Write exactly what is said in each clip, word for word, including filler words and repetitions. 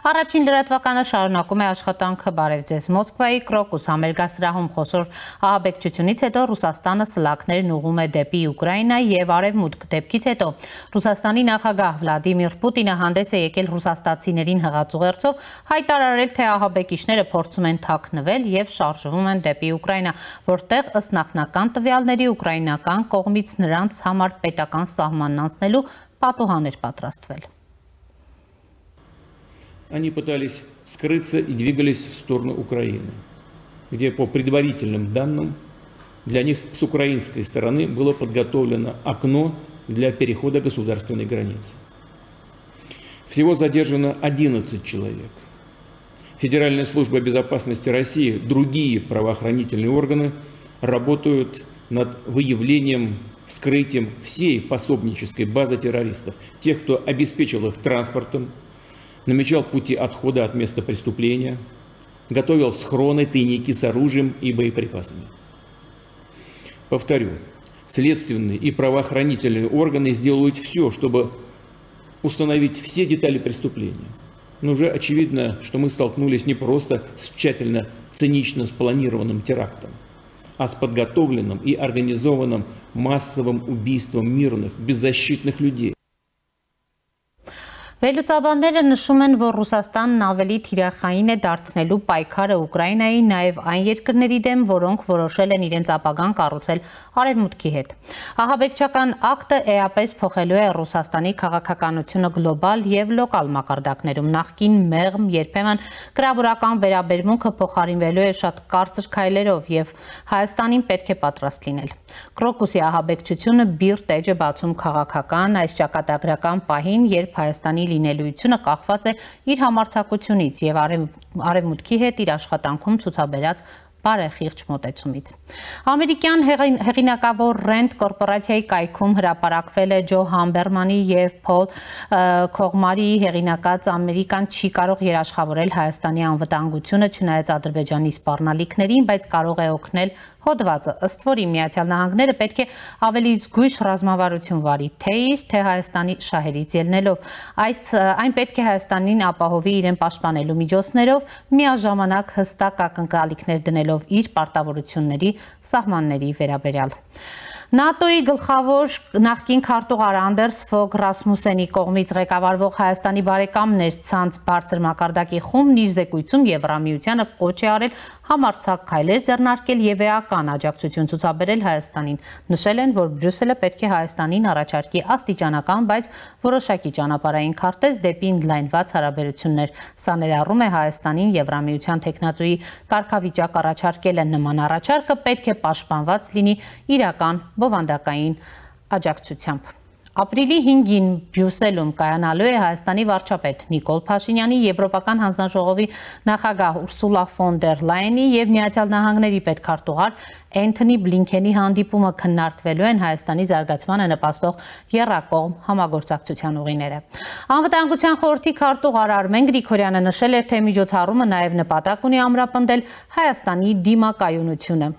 Առաջին լրատվականը շարունակում է աշխատանքը բարև ձեզ Մոսկվայի Կրոկուս համերգասրահում խոշոր ահաբեկչությունից հետո Ռուսաստանը սլաքներն ուղղում է դեպի Ուկրաինա եւ արևմուտք դեպքից հետո Ռուսաստանի նախագահ Վլադիմիր Պուտինը հանդես է եկել ռուսաստացիներին հղացուղերձով հայտարարել, թե ահաբեկիչները փորձում են թաքնվել եւ շարժվում են դեպի Ուկրաինա, որտեղ ըստ նախնական տվյալների ուկրաինական կողմից նրանց համար պետական սահմանն անցնելու պատուհան էր պատրաստվել։ Они пытались скрыться и двигались в сторону Украины, где по предварительным данным для них с украинской стороны было подготовлено окно для перехода государственной границы. Всего задержано одиннадцать человек. Федеральная служба безопасности России, другие правоохранительные органы работают над выявлением, вскрытием всей пособнической базы террористов, тех, кто обеспечил их транспортом, намечал пути отхода от места преступления, готовил схроны, тайники с оружием и боеприпасами. Повторю, следственные и правоохранительные органы сделают все, чтобы установить все детали преступления. Но уже очевидно, что мы столкнулись не просто с тщательно, цинично спланированным терактом, а с подготовленным и организованным массовым убийством мирных, беззащитных людей. Վերլուծաբանները նշում են, որ Ռուսաստանն ավելի թիրախային է դարձնելու պայքարը Ուկրաինայի նաև այն երկրների դեմ, որոնք որոշել են իրենց ապագան կառուցել արևմուտքի հետ։ Ահաբեկչական ակտը էապես փոխելու է Ռուսաստանի քաղաքականությունը գլոբալ եւ լոկալ մակարդակներում։ Նախկին մեղմ, երբեմն կրավորական վերաբերմունքը փոխարինվելու է շատ կարծր քայլերով եւ Հայաստանին պետք է պատրաստ լինել։ Կրոկուսի ահաբեկչությունը բիրտ էջ է բացում քաղաքական այս ճակատագրական պահին, երբ Հայաստանի լինելույթությունը կախված է իր համարձակությունից եւ արևմուտքի հետ իր աշխատանքում ցուցաբերած բարեխիղճ մոտեցումից։ Ամերիկյան հեղինակավոր Rand կորպորացիայի կայքում հրապարակվել է Ջո Համբերմանի եւ Փոլ Քողմարի հեղինակած Ամերիկան չի կարող երաշխավորել Հայաստանի անվտանգությունը, չնայած Ադրբեջանի սպառնալիքներին, բայց կարող է օգնել հոդվածը, ըստ որի Միացյալ Նահանգները պետք է ավելի զգույշ ռազմավարություն վարի, թե իր, թե Հայաստանի շահերից ելնելով։ Այս այն պետք է Հայաստանին ապահովի իրեն պաշտպանելու միջոցներով, միաժամանակ հստակ ակնկալիքներ դնելով իր պարտավորությունների սահմանների վերաբերյալ։ ՆԱՏՕ-ի գլխավոր նախկին քարտուղար Անդերս Ֆոգ Ռասմուսենի կողմից ղեկավարվող Հայաստանի բարեկամներ ցանց բարձր մակարդակի խումբն իր զեկույցում Եվրամիությանը կոչ է արել համարձակ քայլեր ձեռնարկել եւ էական աջակցություն ցուցաբերել Հայաստանին։ Նշել են, որ Բրյուսելը պետք է Հայաստանին առաջարկի աստիճանական, բայց որոշակի ճանապարհային քարտեզ դեպի ընդլայնված հարաբերություններ։ Սա ներառում է Հայաստանին Եվրամիության տեխնացուի կարգավիճակ առաջարկելը։ Նման առաջարկը պետք է պաշտպանված լինի իրական բովանդակային աջակցությամբ։ Ապրիլի հինգին Բրյուսելում կայանալու է Հայաստանի վարչապետ Նիկոլ Փաշինյանի, Եվրոպական հանձնաժողովի նախագահ Ուրսուլա ֆոն դեր Լայենի եւ Միացյալ Նահանգների պետքարտուղար Էնթոնի Բլինքենի հանդիպումը քննարկվելու են Հայաստանի զարգացմանը նպաստող եռակողմ համագործակցության ուղիները։ Անվտանգության խորհրդի քարտուղար Արմեն Գրիգորյանը նշել էր, թե միջոցառումը նաեւ նպատակ ունի ամրապնդել Հայաստանի դիմակայունությունը։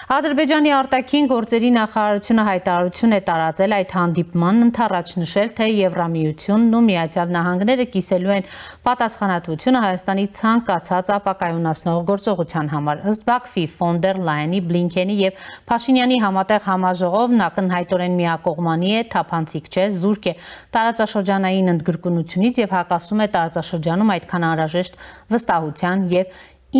Ադրբեջանի արտաքին գործերի նախարարությունը հայտարարություն է տարածել այդ հանդիպման ընթառաջ, նշել, թե Եվրամիությունն ու Միացյալ Նահանգները կիսելու են պատասխանատվությունը Հայաստանի ցանկացած ապակայունացնող գործողության համար։ Ըստ Բաքվի ֆոն դեր Լայենի, Բլինքենի եւ Փաշինյանի համատեղ համաժողովն ակնհայտորեն միակողմանի է, թափանցիկ չէ, զուրկ է տարածաշրջանային ընդգրկունությունից եւ հակասում է տարածաշրջանում այդքան անհրաժեշտ վստահության եւ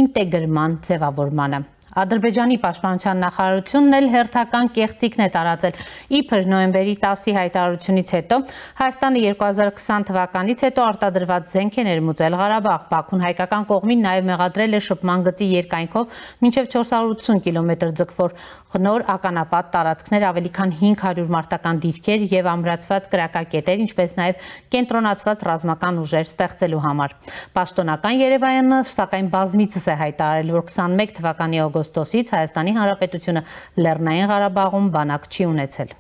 ինտեգրման ձևավորմանը։ Ադրբեջանի պաշտպանության նախարարությունն էլ հերթական կեղծիքն է տարածել։ Իբր նոյեմբերի տասի հայտարարությունից հետո Հայաստանը երկու հազար քսան թվականից հետո արտադրված զենք է ներմուծել Ղարաբաղ։ Բաքուն հայկական կողմին նաև մեղադրել է շփման գծի երկայնքով մինչև չորս հարյուր ութսուն կիլոմետր ձգվող նոր ականապատ տարածքներ, ավելի քան հինգ հարյուր մարտական դիրքեր եւ ամրացված կրակակետեր, ինչպես նաև կենտրոնացված ռազմական ուժեր ստեղծելու համար։ Պաշտոնական Երևանը սակայն բազմիցս է հայտարարել, որ քսանմեկ թվականի օգոստոսից Հայաստանի Հանրապետությունը Լեռնային Ղարաբաղում բանակ չի ունեցել։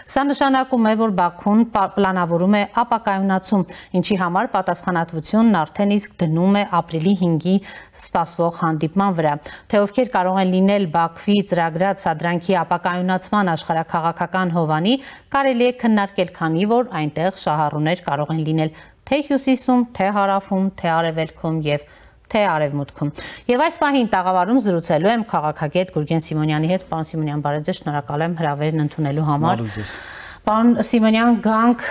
Սա նշանակում է, որ Բաքուն պլանավորում է ապակայունացում, ինչի համար պատասխանատվությունն արդեն իսկ դնում է ապրիլի հինգի սպասվող հանդիպման վրա։ Թե ովքեր կարող են լինել Բաքվի ծրագրած սադրանքի ապակայունացման աշխարհաքաղաքական հովանի, կարելի է քննարկել, քանի որ այնտեղ շահառուներ կարող են լինել թե հյուսիսում, թե հարավում, թե արևելքում եւ թե արևմուտքում։ Եվ այս պահին տաղավարում զրուցելու եմ քաղաքագետ Գուրգեն Սիմոնյանի հետ։ Պարոն Սիմոնյան, բարև ձեզ, շնորհակալ եմ հրավերն ընդունելու համար։ Պարոն Սիմոնյան, գանք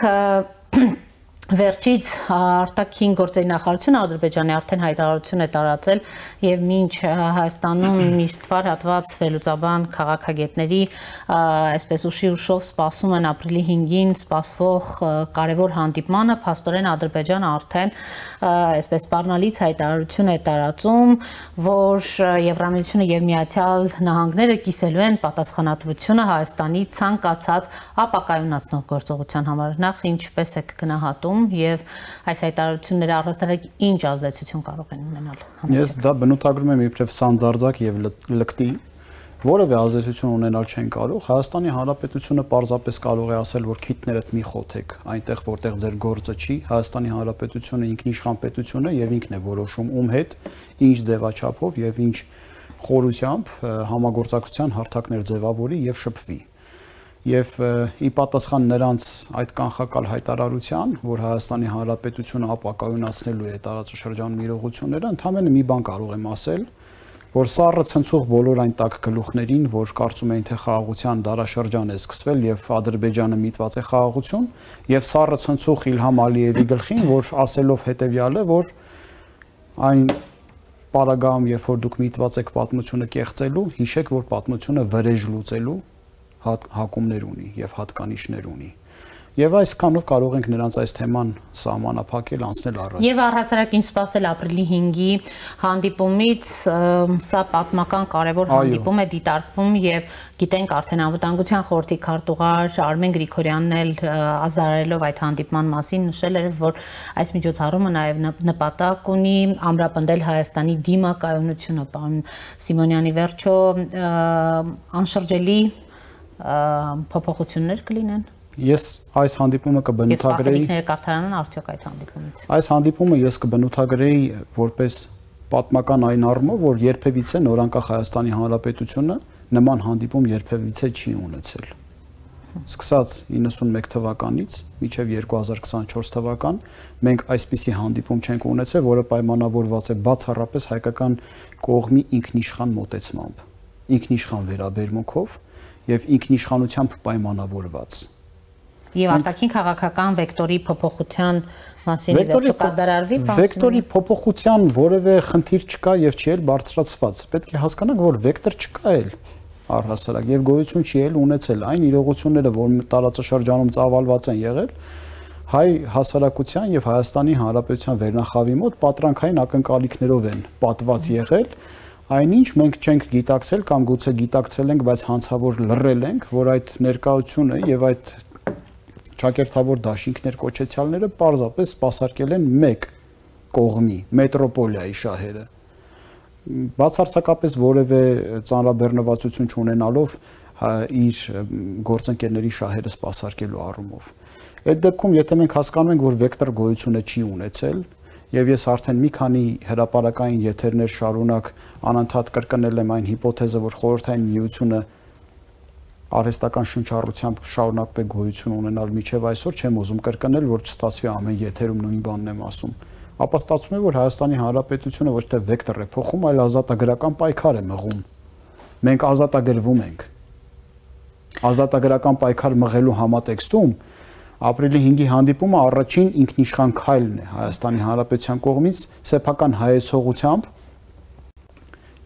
Վերջից արտաքին գործերի նախարարությունը Ադրբեջանի արդեն հայտարարություն է տարածել եւ մինչ Հայաստանում միստվար հատված վերլուծաբան քաղաքագետների այսպես ուշի ուշով սպասում են ապրիլի հինգին սպասվող կարևոր հանդիպմանը, փաստորեն Ադրբեջանը արդեն այսպես սպառնալից հայտարարություն է տարածում, որ Եվրամիությունը եւ Միացյալ Նահանգները կիսելու են պատասխանատվությունը Հայաստանի ցանկացած ապակայունացնող գործողության համար։ Նախ ինչպես եք գնահատում եւ այս հայտարարությունները առհասարակ ինչ ազդեցություն կարող են ունենալ։ Ես դա բնութագրում եմ իբրև սանձարձակ եւ լկտի, որևէ ազդեցություն ունենալ չեն կարող։ Հայաստանի Հանրապետությունը պարզապես կարող է ասել, որ քիթներդ մի խոթեք այնտեղ, որտեղ ձեր գործը չի։ Հայաստանի Հանրապետությունը ինքնիշխան պետություն է եւ ինքն է որոշում ում հետ, ինչ ձևաչափով եւ ինչ խորությամբ համագործակցության հարթակներ ձևավորի եւ շփվի։ Եվ ի պատասխան նրանց այդ կանխակալ հայտարարության, որ Հայաստանի Հանրապետությունը ապակայունացնելու է տարածաշրջանում իրողությունները, ընդհանրապես մի բան կարող եմ ասել, որ սառը ցնցող բոլոր այն տակ գլուխներին, որ կարծում էին, թե խաղաղության դարաշրջան է սկսվել եւ Ադրբեջանը միտված է խաղաղություն, եւ սառը ցնցող Իլհամ Ալիևի գլխին, որ ասելով հետեւյալը, որ այն պարագայում, երբ որ դուք միտված եք պատմությունը կեղծելու, հիշեք, որ պատմությունը վրեժ լուծելու հակումներ ունի եւ հատկանիշներ ունի։ Եվ այսքանով կարող ենք նրանց այս թեման սահմանափակել, անցնել առաջ։ Եվ առհասարակ ինչ սպասել ապրիլի հինգի հանդիպումից, սա պատմական կարևոր հանդիպում է դիտարկվում եւ գիտենք արդեն անվտանգության խորհրդի քարտուղար Արմեն Գրիգորյանն էլ ազդարարելով այդ հանդիպման մասին նշել էր, որ այս միջոցառումը նաեւ նպատակ ունի ամրապնդել Հայաստանի դիմակայունությունը։ Պարոն Սիմոնյանի, վերջո անշրջելի փոփոխություններ կլինեն։ Ես այս հանդիպումը կբնութագրեի Սպասելիքները կարդարանան արդյոք այդ հանդիպումից։ Այս հանդիպումը ես կբնութագրեի որպես պատմական այն առումով, որ երբևիցե նորանկախ Հայաստանի Հանրապետությունը նման հանդիպում երբևիցե չի ունեցել։ Սկսած իննսունմեկ թվականից մինչև երկու հազար քսանչորս թվական մենք այսպիսի հանդիպում չենք ունեցել, որը պայմանավորված է բացառապես հայկական կողմի ինքնիշխան մոտեցմամբ, ինքնիշխան վերաբերմունքով եւ ինքնիշխանությամբ պայմանավորված։ Եվ արտաքին քաղաքական վեկտորի փոփոխության մասին վերջո կազդարարվի։ Վեկտորի փոփոխության որևէ խնդիր չկա եւ չի էլ բարձրացված։ Պետք է հասկանանք, որ վեկտոր չկա էլ առհասարակ եւ գոյություն չի էլ ունեցել այն իրողությունները, որ տարածաշրջանում ծավալված են եղել, հայ հասարակության եւ Հայաստանի Հանրապետության վերնախավի մոտ պատրանքային ակնկալիքներով են պատված եղել։ Այնինչ մենք չենք գիտակցել կամ գուցե գիտակցել ենք, բայց հանցավոր լռել ենք, որ այդ ներկայությունը եւ այդ ճակերտավոր դաշինքներ կոչեցյալները պարզապես սպասարկել են մեկ կողմի, մետրոպոլիայի շահերը։ Բացարձակապես որևէ ծանրաբեռնվածություն չունենալով իր գործընկերների շահերը սպասարկելու առումով։ Այդ դեպքում, եթե մենք հասկանում ենք, որ վեկտոր գոյությունը չի ունեցել, եւ ես արդեն մի քանի հրապարակային եթերներ շարունակ անընդհատ կրկնել եմ այն հիպոթեզը, որ խորհրդային միությունը արհեստական շնչառությամբ շարունակվի գոյություն ունենալ միջև այսօր, չեմ ուզում կրկնել, որ չստացվի ամեն եթերում նույն բանն եմ ասում։ Ապա ստացվում է, որ Հայաստանի Հանրապետությունը ոչ թե վեկտոր է փոխում, այլ ազատագրական պայքար է մղում։ Մենք ազատագրվում ենք։ Ազատագրական պայքար մղելու համատեքստում ապրիլի հինգի հանդիպումը առաջին ինքնիշխան քայլն է Հայաստանի Հանրապետության կողմից սեփական հայեցողությամբ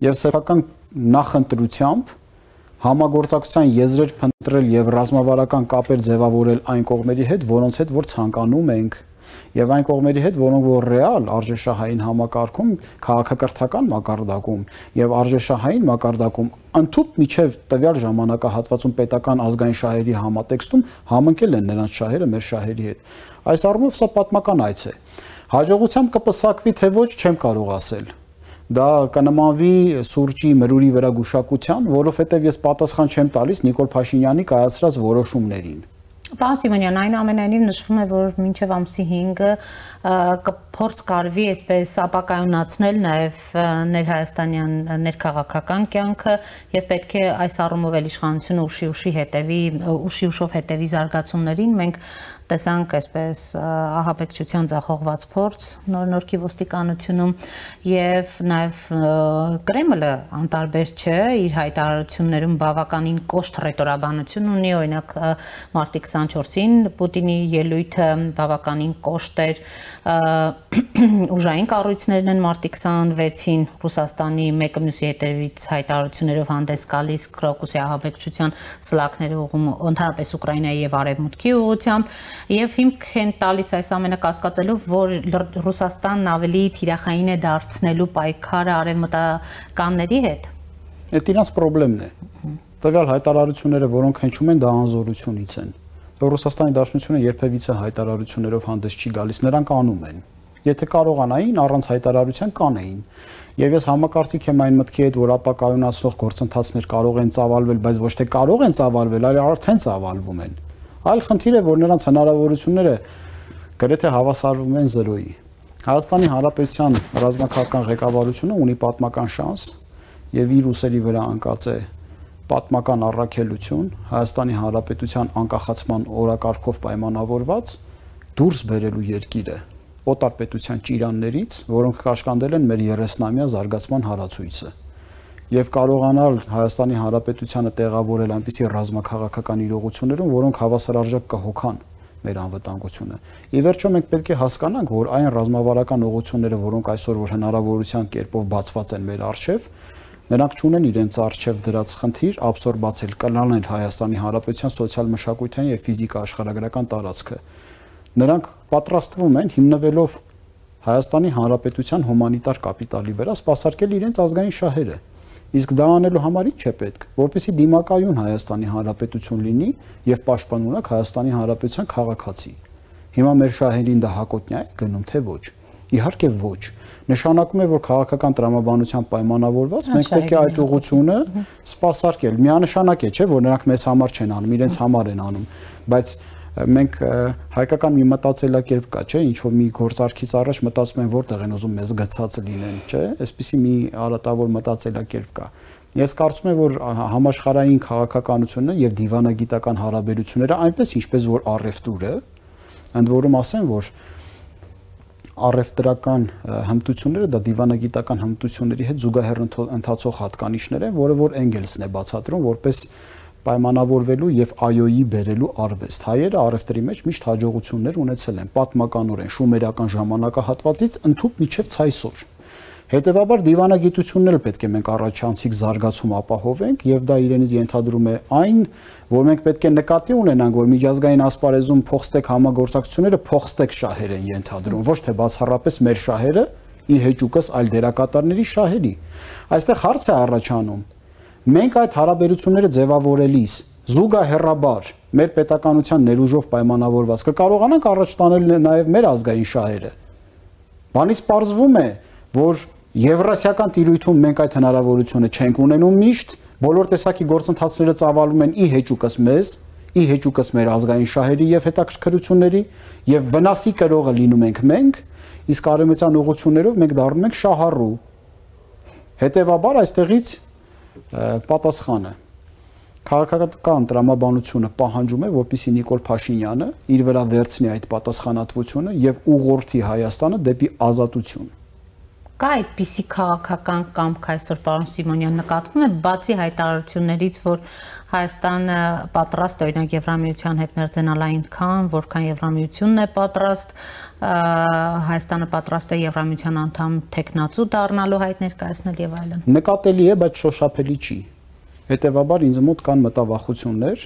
եւ սեփական նախընտրությամբ համագործակցության եզրեր փնտրել եւ ռազմավարական կապեր ձևավորել այն կողմերի հետ, որոնց հետ որ ցանկանում ենք եւ այն կողմերի հետ, որոնք որ ռեալ արժեշահային համակարգում, քաղաքակրթական մակարդակում եւ արժեշահային մակարդակում ընդհանուր միջև տվյալ ժամանակահատվածում պետական ազգային շահերի համատեքստում համընկել են նրանց շահերը մեր շահերի հետ։ Այս առումով սա պատմական այց է։ Հաջողությամբ կպսակվի թե ոչ, չեմ կարող ասել։ Դա կնմանվի սուրճի մրուրի վրա գուշակության, որովհետեւ ես պատասխան չեմ տալիս Նիկոլ Փաշինյանի կայացրած որոշումներին։ Պարոն Սիմոնյան, այնուամենայնիվ նշվում է, որ մինչև ամսի հինգը փորձ կարվի այսպես ապակայունացնել նաև ներհայաստանյան ներքաղաքական կյանքը եւ պետք է այս առումով էլ իշխանությունը ուշի-ուշի հետևի ուշի-ուշով հետևի զարգացումներին մենք տեսանք այսպես ահաբեկչության ձախողված փորձ նոր-նորքի ոստիկանությունում եւ նաեւ Կրեմլը անտարբեր չէ իր հայտարարություններում բավականին կոշտ ռետորաբանություն ունի օրինակ մարտի քսանչորսին Պուտինի ելույթը բավականին կոշտ էր ուժային կառույցներն են մարտի քսանվեցին Ռուսաստանի մեկը մյուսի հետևից հայտարարություններով հանդես գալիս Կրոկուսի ահաբեկչության սլաքները ուղղում ընդհանրապես Ուկրաինայի եւ Արևմուտքի ուղղությամբ Եվ հիմք են տալիս այս ամենը կասկածելով, որ Ռուսաստանն ավելի թիրախային է դարձնելու պայքարը արևմտականների հետ։ Այդ իրանց խնդիրն է։ Տվյալ հայտարարությունները, որոնք հնչում են, դա անզորությունից են։ Ռուսաստանի Դաշնությունը երբևիցե հայտարարություններով հանդես չի գալիս, նրանք անում են։ Եթե կարողանային, առանց հայտարարության կանեին։ Եվ ես համակարծիք եմ այն մտքի հետ, որ ապակայունացնող գործընթացներ կարող են ծավալվել, բայց ոչ թե կարող են ծավալվել, այլ արդեն ծավալվում են։ Այլ խնդիր է, որ նրանց հնարավորությունները գրեթե հավասարվում են զրոյի։ Հայաստանի Հանրապետության ռազմաքաղաքական ղեկավարությունը ունի պատմական շանս եւ իր ուսերի վրա անկած է պատմական առաքելություն Հայաստանի Հանրապետության անկախացման օրակարգով պայմանավորված դուրս բերելու երկիրը օտար պետության ճիրաններից, որոնք կաշկանդել են մեր երեսնամյա զարգացման հարացույցը։ Եվ կարողանալ Հայաստանի Հանրապետությանը տեղավորել այնպիսի ռազմաքաղաքական իրողություններում, որոնք հավասարարժեք կհոգան մեր անվտանգությունը։ Ի վերջո մենք պետք է հասկանանք, որ այն ռազմավարական ուղղությունները, որոնք այսօր որ հնարավորության կերպով բացված են մեր առջև, նրանք չունեն իրենց առջև դրած խնդիր աբսորբացել, կլանել Հայաստանի Հանրապետության սոցիալ-մշակութային եւ ֆիզիկա աշխարհագրական տարածքը։ Նրանք պատրաստվում են հիմնվելով Հայաստանի Հանրապետության հումանիտար կապիտալի վրա սպասարկել իրենց ազգային շահերը։ Իսկ դա անելու համար ինչ է պետք, որպեսզի դիմակայուն Հայաստանի Հանրապետություն լինի եւ պաշտպանունակ Հայաստանի Հանրապետության քաղաքացի։ Հիմա մեր շահերին դա հակոտնյա է գնում, թե ոչ։ Իհարկե ոչ։ Նշանակում է, որ քաղաքական տրամաբանությամբ պայմանավորված մենք պետք է այդ ուղղությունը սպասարկել։ Միանշանակ է, չէ՞, որ նրանք մեզ համար չեն անում, իրենց համար են անում, բայց մենք հայկական մի մտածելակերպ կա, չէ, ինչ որ մի գործարքից առաջ մտածում են որտեղ են ուզում մեզ գցած լինեն, չէ, այսպիսի մի արատավոր մտածելակերպ կա։ Ես կարծում եմ, որ համաշխարհային քաղաքականությունը եւ դիվանագիտական հարաբերությունները այնպես ինչպես որ առևտուրը, ընդ որում ասեմ, որ առևտրական հմտությունները դա դիվանագիտական հմտությունների հետ զուգահեռ ընթացող հատկանիշներ են, որը որ Էնգելսն է բացատրում որպես պայմանավորվելու եւ այոյի բերելու արվեստ։ Հայերը առևտրի մեջ միշտ հաջողություններ ունեցել են պատմականորեն շումերական ժամանակահատվածից ընդհուպ մինչև ցայսօր։ Հետևաբար դիվանագիտությունն էլ պետք է մենք առաջանցիկ զարգացում ապահովենք եւ դա իրենից ենթադրում է այն, որ մենք պետք է նկատի ունենանք, որ միջազգային ասպարեզում փոխստեկ համագործակցությունները փոխստեկ շահեր են ենթադրում, ոչ թե բացառապես մեր շահերը ի հեճուկս այլ դերակատարների շահերի։ Այստեղ հարց է առաջանում. մենք այդ հարաբերությունները ձևավորելիս զուգահեռաբար մեր պետականության ներուժով պայմանավորված կկարողանանք առաջ տանել նաև մեր ազգային շահերը։ Բանից պարզվում է, որ Եվրասիական տիրույթում մենք այդ հնարավորությունը չենք ունենում միշտ, բոլոր տեսակի գործընթացները ծավալվում են ի հեճուկս մեզ, ի հեճուկս մեր ազգային շահերի եւ հետաքրքրությունների եւ վնասի կրողը լինում ենք մենք, իսկ արևմտյան ուղղություններով մենք դառնում ենք շահառու։ Հետևաբար այստեղից պատասխանը քաղաքական տրամաբանությունը պահանջում է, որպեսզի Նիկոլ Փաշինյանը իր վրա վերցնի այդ պատասխանատվությունը եւ ուղղորդի Հայաստանը դեպի ազատություն։ Կա այդպիսի քաղաքական կամք այսօր պարոն Սիմոնյան նկատվում է, բացի հայտարարություններից, որ Հայաստանը պատրաստ է օրինակ Եվրամիության հետ մերձենալ այնքան, որքան Եվրամիությունն է պատրաստ, Հայաստանը պատրաստ է Եվրամիության անդամ տեխնացու դառնալու հայտ ներկայացնել եւ այլն։ Նկատելի է, բայց շոշափելի չի։ Հետևաբար ինձ մոտ կան մտավախություններ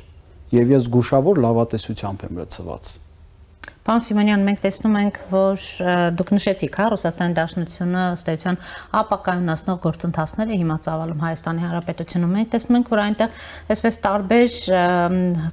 եւ ես զգուշավոր լավատեսությամբ եմ լցված։ Պարոն Սիմոնյան, մենք տեսնում ենք, որ դուք նշեցիք, հա, Ռուսաստանի Դաշնությունը ըստ էության ապակայունացնող գործընթացներ է հիմա ծավալում Հայաստանի Հանրապետությունում։ Մենք տեսնում ենք, որ այնտեղ այսպես տարբեր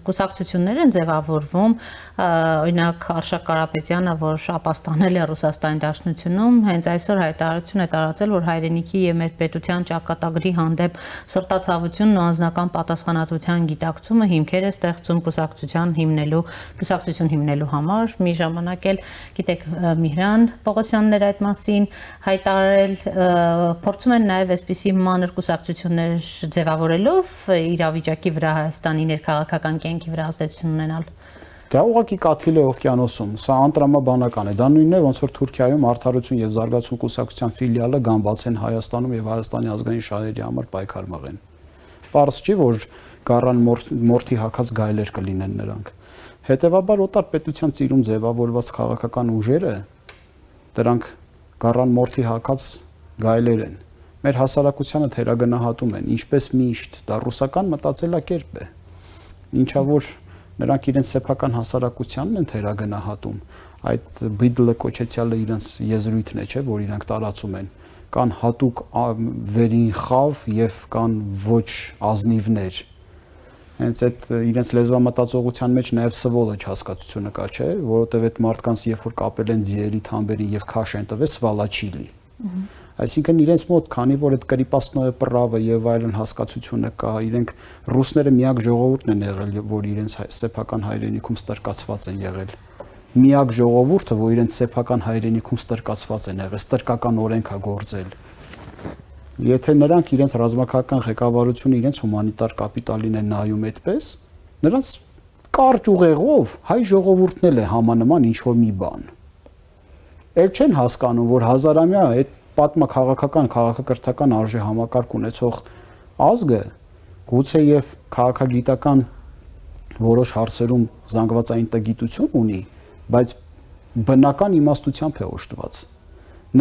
կուսակցություններ են ձևավորվում, օրինակ Արշակ Կարապետյանը, որ ապաստանել է Ռուսաստանի Դաշնությունում, հենց այսօր հայտարարություն է տարածել, որ հայրենիքի եւ մեր պետության ճակատագրի հանդեպ սրտացավությունն ու անձնական պատասխանատվության գիտակցումը հիմքեր է ստեղծում կուսակցության հիմնելու, կուսակցություն հիմնելու համար։ մի ժամանակ էլ գիտեք Միհրան Պողոսյանն էր այդ մասին հայտարարել, փորձում են նաև այսպիսի մանր կուսակցություններ ձևավորելով իրավիճակի վրա Հայաստանի ներքաղաքական կյանքի վրա ազդեցություն ունենալ։ Դա ուղղակի կաթիլ է օվկիանոսում, սա անտրամաբանական է, դա նույնն է, ոնց որ Թուրքիայում Արդարություն եւ Զարգացում կուսակցության ֆիլիալը գամբացեն Հայաստանում եւ Հայաստանի ազգային շահերի համար պայքար մղեն։ Պարզ չի, որ գառան մորթի հակած գայլեր կլինեն նրանք։ Հետևաբար օտար պետության ծիրում ձևավորված քաղաքական ուժերը դրանք գառան մորթի հակած գայլեր են։ Մեր հասարակությանը թերագնահատում են, ինչպես միշտ, դա ռուսական մտածելակերպ է։ Ինչա որ նրանք իրենց սեփական հասարակությանն են թերագնահատում, այդ բիդլը կոչեցյալը իրենց եզրույթն է, չէ, որ իրենք տարածում են, կան հատուկ վերին խավ եւ կան ոչ ազնիվներ։ Հենց այդ իրենց լեզվամտածողության մեջ նաեւ սվոլը հասկացությունը կա, չէ, որովհետեւ այդ մարդկանց երբ որ կապել են ձիերի թամբերին եւ քաշ են տվել սվալաչիլի։ Այսինքն իրենց մոտ, քանի որ այդ կրիպասնոյը պրավը եւ այլն հասկացությունը կա, իրենք ռուսները միակ ժողովուրդն են եղել, որ իրենց սեփական հայրենիքում ստրկացված են եղել։ Միակ ժողովուրդը, որ իրենց սեփական հայրենիքում ստրկացված են եղել, ստրկական օրենք է գործել։ Եթե նրանք իրենց ռազմաքաղաքական ղեկավարությունը իրենց հումանիտար կապիտալին են նայում այդպես, նրանց կարճ ուղեղով հայ ժողովուրդն էլ է համանման ինչ որ մի բան։ Էլ չեն հասկանում, որ հազարամյա այդ պատմաքաղաքական, քաղաքակրթական արժե համակարգ ունեցող ազգը գուցե եւ քաղաքագիտական որոշ հարցերում զանգվածային տգիտություն ունի, բայց բնական իմաստությամբ է օժտված։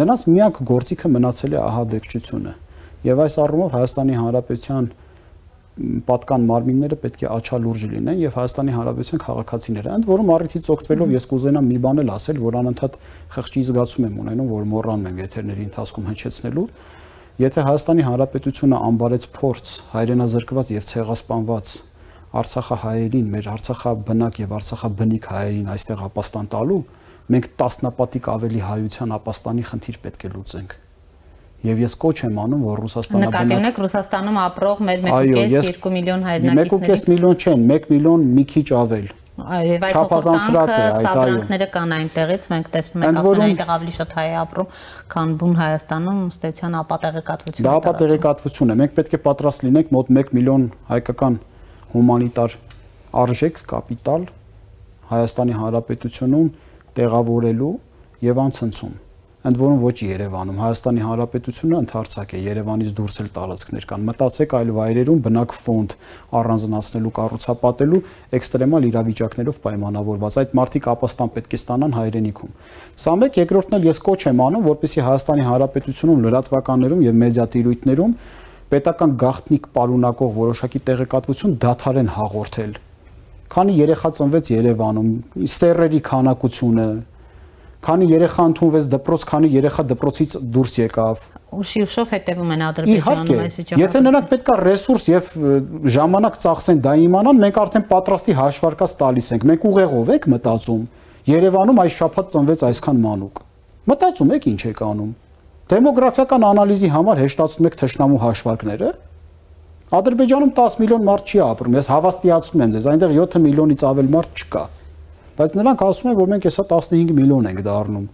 Նրանց միակ գործիքը մնացել է ահաբեկչությունը։ Եվ այս առումով Հայաստանի Հանրապետության պատկան մարմինները պետք է աչալուրջ լինեն եւ Հայաստանի Հանրապետության քաղաքացիները։ Ընդ որում առիթից օգտվելով ես կուզենամ մի բան էլ ասել, որ անընդհատ խղճի զգացում եմ ունենում, որ մոռանում եմ եթերների ընթացքում հնչեցնելու։ Եթե Հայաստանի Հանրապետությունը անբարեց փորձ հայրենազրկված եւ ցեղասպանված Արցախահայերին, մեր Արցախաբնակ եւ Արցախաբնիկ հայերին այստեղ ապաստան տալու, մենք տասնապատիկ ավելի հայության ապաստանի խնդիր պետք է լուծենք։ Եվ ես կոչ եմ անում, որ Ռուսաստանը նկատի ունեք Ռուսաստանում ապրող մեր մեկ կես երկու միլիոն հայրենակիցների մեկ կես միլիոն չեն, մեկ միլիոն մի քիչ ավել։ Եվ այդ փոխանցները կան այնտեղից, մենք տեսնում ենք այնտեղ ավելի շատ հայ ապրում, քան բուն Հայաստանում, ըստեյության ապատեղեկատվություն։ Դա ապատեղեկատվություն է, մենք պետք է պատրաստ լինենք մոտ մեկ միլիոն հայկական հումանիտար արժեք, կապիտալ Հայաստանի Հանրապետությունում տեղավորելու եւ անցնցում։ Ընդ որում ոչ Երևանում, Հայաստանի Հանրապետությունը ընդհանրացակ է, Երևանից դուրս էլ տարածքներ կան։ Մտածեք այլ վայրերում բնակ ֆոնդ առանձնացնելու, կառուցապատելու էքստրեմալ իրավիճակներով պայմանավորված։ Այդ մարդիկ ապաստան պետք է ստանան հայրենիքում։ Սա մեկ, երկրորդն էլ ես կոչ եմ անում, որպեսզի Հայաստանի Հանրապետությունում լրատվականներում եւ մեդիատիրույթներում պետական գաղտնիք պարունակող որոշակի տեղեկատվություն դադարեն հաղորդել։ Քանի երեխա ծնվեց Երևանում, սեռերի քանակությունը, քանի երեխա ընդունվեց դպրոց, քանի երեխա դպրոցից դուրս եկավ։ Ուշի ուշով հետևում են Ադրբեջանում այս վիճակը։ Եթե նրանք պետքա ռեսուրս եւ ժամանակ ծախսեն դա իմանան, մենք արդեն պատրաստի հաշվարկած տալիս ենք։ Մենք ուղեղով եք մտածում։ Երևանում այս շաբաթ ծնվեց այսքան մանուկ։ Մտածում եք ինչ եք անում։ Դեմոգրաֆիական անալիզի համար հեշտացնում եք թշնամու հաշվարկները։ Ադրբեջանում տասը միլիոն մարդ չի ապրում, ես հավաստիացնում եմ դες, այնտեղ յոթ միլիոնից ավել մարդ չկա։ Բայց նրանք ասում են, որ մենք հեսա տասնհինգ միլիոն ենք դառնում,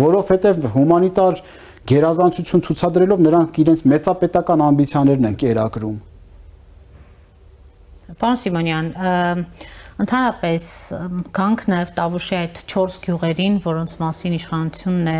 որովհետև հումանիտար գերազանցություն ցուցադրելով նրանք իրենց մեծապետական ամբիցիաներն են կերակրում։ Պարոն Սիմոնյան, ընդհանրապես գանք նաև Տավուշի այդ չորս գյուղերին, որոնց մասին իշխանությունն է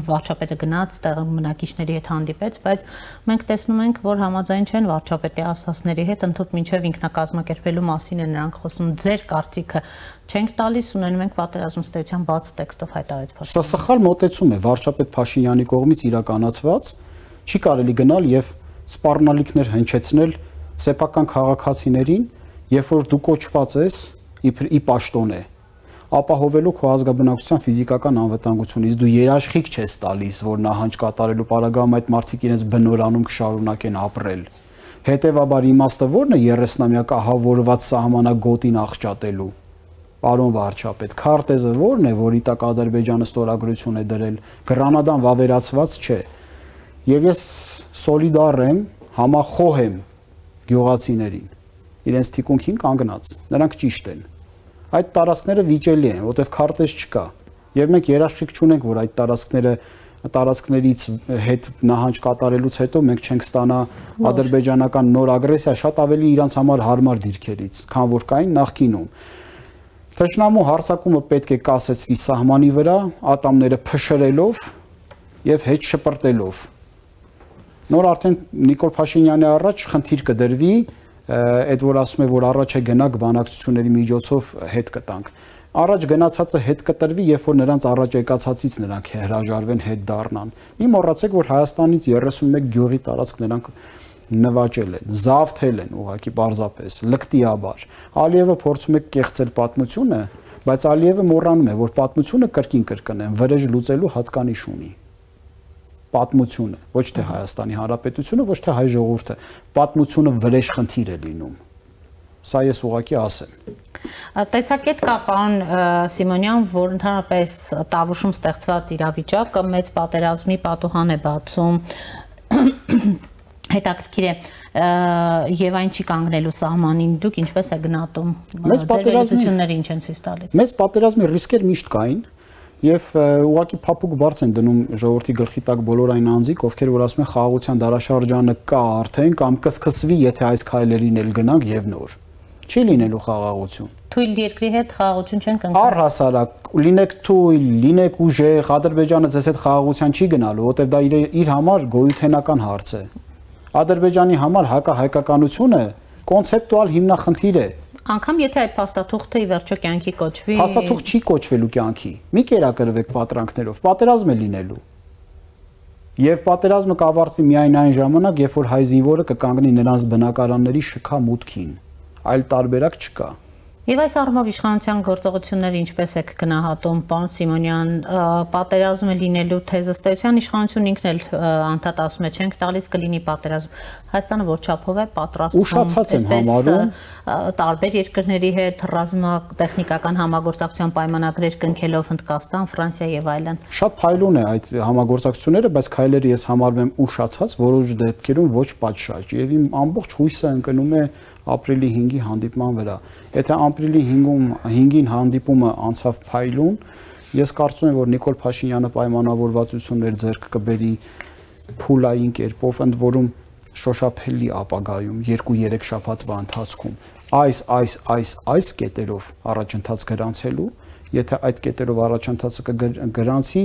վարչապետը գնաց, տեղի բնակիչների հետ հանդիպեց, բայց մենք տեսնում ենք, որ համաձայն չեն վարչապետի ասածների հետ, ընդհանուր մինչև ինքնակազմակերպելու մասին է նրանք խոսում։ Ձեր կարծիքը չենք տալիս, ունենում ենք պատերազմ ստեյության բաց տեքստով հայտարարեց Փաշինյանը։ Սա սխալ մոտեցում է վարչապետ Փաշինյանի կողմից իրականացված, չի կարելի գնալ եւ սպառնալիքներ հնչեցնել սեփական քաղաքացիներին, երբ որ դու կոչված ես ի պաշտոն է, ապահովելու քո ազգաբնակության ֆիզիկական անվտանգությունից, դու երաշխիք չես տալիս, որ նահանջ կատարելու պարագայում այդ մարդիկ իրենց բնորանում կշարունակեն ապրել։ Հետևաբար իմաստը ո՞րն է երեսնամյակ ահավորված սահմանագոտին աղճատելու։ Պարոն վարչապետ, քարտեզը ո՞րն է, որի տակ Ադրբեջանը ստորագրություն է դրել, Գրանադան վավերացված չէ։ Եվ ես սոլիդար եմ, համախոհ եմ գյուղացիներին, իրենց թիկունքին կանգնած, նրանք ճիշտ են։ այդ տարածքները վիճելի են, որտեղ քարտեզ չկա։ Եվ մենք երաշխիք չունենք, որ այդ տարածքները տարածքներից հետ նահանջ կատարելուց հետո մենք չենք ստանա ադրբեջանական նոր ագրեսիա շատ ավելի իրանց համար հարմար դիրքերից, քան որ կային նախկինում։ Թշնամու հարձակումը պետք է կասեցվի սահմանի վրա, ատամները փշրելով եւ հետ շպրտելով։ Նոր արդեն Նիկոլ Փաշինյանի առաջ խնդիր կդրվի, այդ որ ասում է, որ առաջ է գնանք բանակցությունների միջոցով հետ կտանք։ Առաջ գնացածը հետ կտրվի, երբ որ նրանց առաջ եկածածից նրանք հրաժարվեն, հետ դառնան։ Մի մոռացեք, որ Հայաստանից երեսուն մեկ գյուղի տարածք նրանք նվաճել են, զավթել են ուղղակի պարզապես, լկտիաբար։ Ալիևը փորձում է կեղծել պատմությունը, բայց Ալիևը մոռանում է, որ պատմությունը կրկին կրկնեն, վրեժ լուծելու հատկանիշ ունի։ Պատմությունը, ոչ թե Հայաստանի Հանրապետությունը, ոչ թե հայ ժողովուրդը, պատմությունը վրեժ խնդիր է լինում։ Սա ես ուղղակի ասեմ։ Տեսակետ կա, պարոն Սիմոնյան, որ ընդհանրապես Տավուշում ստեղծված իրավիճակը մեծ պատերազմի պատուհան է բացում, հետաքրքիր է, եւ այն չի կանգնելու սահմանին, դուք ինչպես եք գնահատում, ձեր վերլուծությունները ինչ են ցույց տալիս։ Մեծ պատերազմի ռիսկեր միշտ կային, եւ ուղղակի փափուկ բարձ են դնում ժողովրդի գլխի տակ բոլոր այն անձիկ, ովքեր որ ասում են խաղաղության դարաշրջանը կա արդեն կամ կսկսվի, եթե այս քայլերին էլ գնանք եւ նոր։ Չի լինելու խաղաղություն։ Թույլ երկրի հետ խաղաղություն չեն կնքել։ Առհասարակ, լինեք թույլ, լինեք ուժեղ, Ադրբեջանը ձեզ հետ խաղաղության չի գնալու, որտեղ դա իր, իր համար գոյութենական հարց է։ Ադրբեջանի համար հակահայկականությունը կոնցեպտուալ հիմնախնդիր է։ Անկամ եթե այդ փաստաթուղթը ի վերջո կյանքի կոչվի։ Փաստաթուղթ չի կոչվելու կյանքի։ Մի կերակրվեք պատրանքներով, պատերազմ է լինելու։ Եվ պատերազմը կավարտվի միայն այն ժամանակ, երբ որ հայ զինվորը կկանգնի նրանց բնակարանների շքա մուտքին։ Այլ տարբերակ չկա։ Եվ այս առումով իշխանության գործողությունները ինչպես եք գնահատում, պարոն Սիմոնյան, պատերազմը լինելու թեզը ստեյության իշխանությունն ինքն էլ անդադ ասում է, չենք տալիս կլինի պատերազմ։ Հայաստանը որ չափով է պատրաստվում, ուշացած եմ համարում տարբեր երկրների հետ ռազմատեխնիկական համագործակցության պայմանագրեր կնքելով Հնդկաստան, Ֆրանսիա եւ այլն։ Շատ փայլուն է այդ համագործակցությունները, բայց քայլերը ես համարում եմ ուշացած, որոշ դեպքերում ոչ պատշաճ, եւ իմ ամբողջ հույսը ընկնում է ապրիլի հինգի հանդիպման վրա։ Եթե ապրիլի հինգին հանդիպումը անցավ փայլուն, ես կարծում եմ, որ Նիկոլ Փաշինյանը պայմանավորվածություններ ձեռք կբերի փուլային կերպով, ընդ որում շոշափելի ապագայում երկու-երեք շաբաթվա ընթացքում այս այս այս այս կետերով առաջընթաց գրանցելու, եթե այդ կետերով առաջընթացը կգրանցի,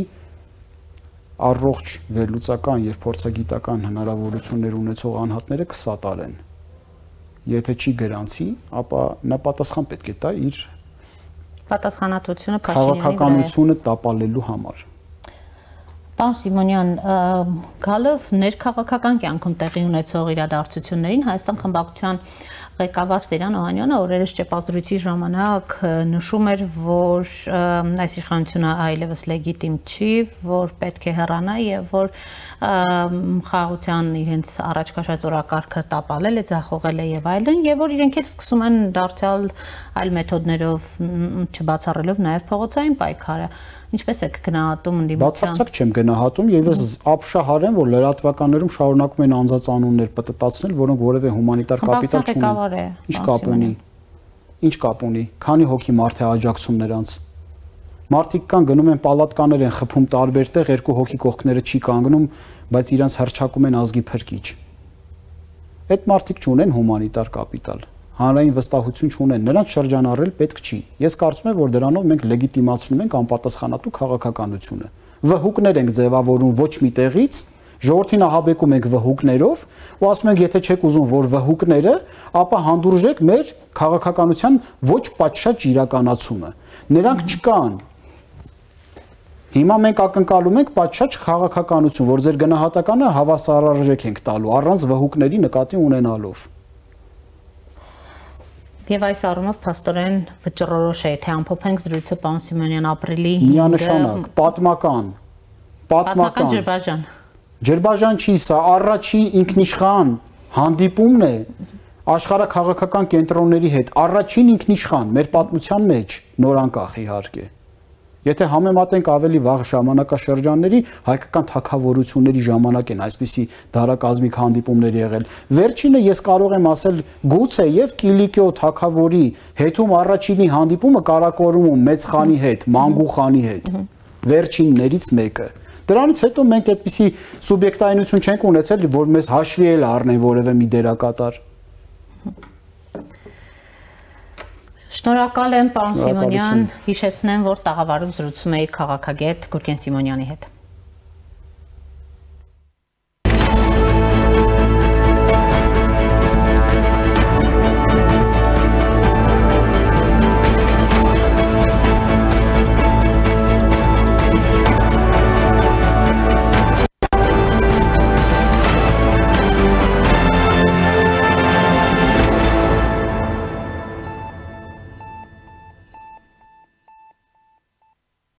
առողջ վերլուծական եւ փորձագիտական հնարավորություններ ունեցող անհատները կսատարեն։ Եթե չի գրանցի, ապա նա պատասխան պետք է տա իր պատասխանատվությունը Փաշինյանի քաղաքականությունը տապալելու համար։ Պարոն Սիմոնյան, գալով ներքաղաքական կյանքում տեղի ունեցող իրադարձություններին Հայաստան խմբակցության ղեկավար Տերյան Օհանյանը օրերս ճեպազրույցի ժամանակ նշում էր, որ այս իշխանությունը այլևս լեգիտիմ չի, որ պետք է հեռանա եւ որ խաղաղության իրենց առաջ քաշած օրակարգը տապալել է, ձախողել է եւ այլն, եւ որ իրենք էլ սկսում են դարձյալ այլ մեթոդներով չբացառելով նաեւ փողոցային պայքարը։ Ինչպես եք գնահատում ընդդիմության։ Բացարձակ չեմ գնահատում եւ ես ապշահարեմ, որ լրատվականներում շարունակում են անձածանուններ պտտացնել, որոնք որևէ հումանիտար կապիտալ չունեն։ Ինչ կապ ունի։ Ինչ կապ ունի։ Քանի հոգի մարդ է աջակցում նրանց։ Մարդիկ կան գնում են պալատկաներ են խփում տարբեր տեղ, երկու հոգի կողքները չի կանգնում, բայց իրանց հրճակում են ազգի փրկիչ։ Այդ մարդիկ չունեն հումանիտար կապիտալ։ Հանրային վստահություն չունեն, նրանց շրջանառել պետք չի։ Ես կարծում եմ, որ դրանով մենք լեգիտիմացնում ենք անպատասխանատու քաղաքականությունը։ Վհուկներ ենք ձևավորում ոչ մի տեղից, ժողովրդին ահաբեկում ենք վհուկներով ու ասում ենք, եթե չեք ուզում, որ վհուկները, ապա հանդուրժեք մեր քաղաքականության ոչ պատշաճ իրականացումը։ Նրանք չկան։ Հիմա մենք ակնկալում ենք պատշաճ քաղաքականություն, որ ձեր գնահատականը հավասարարժեք ենք տալու առանց վհուկների նկատի ունենալով։ Եվ այս առումով փաստորեն վճռորոշ է, թե ամփոփենք զրույցը պարոն Սիմոնյան ապրիլի միանշանակ, պատմական, պատմական Ջրբաժան։ Ջրբաժան չի սա, առաջի ինքնիշխան հանդիպումն է աշխարհաքաղաքական կենտրոնների հետ, առաջին ինքնիշխան մեր պատմության մեջ, նոր անկախ իհարկե։ Եթե համեմատենք ավելի վաղ ժամանակաշրջանների, հայկական թագավորությունների ժամանակ են այսպիսի դարակազմիկ հանդիպումներ եղել։ Վերջինը ես կարող եմ ասել գուցե եւ Կիլիկիո թագավորի հետում առաջինի հանդիպումը Կարակորումում մեծ խանի հետ, Մանգու խանի հետ։ Վերջիններից մեկը։ Դրանից հետո մենք այդպիսի սուբյեկտայնություն չենք ունեցել, որ մեզ հաշվի էլ առնեն որևէ մի դերակատար։ Շնորհակալ եմ, պարոն Սիմոնյան, հիշեցնեմ, որ տաղավարում զրուցում էի քաղաքագետ Գուրգեն Սիմոնյանի հետ։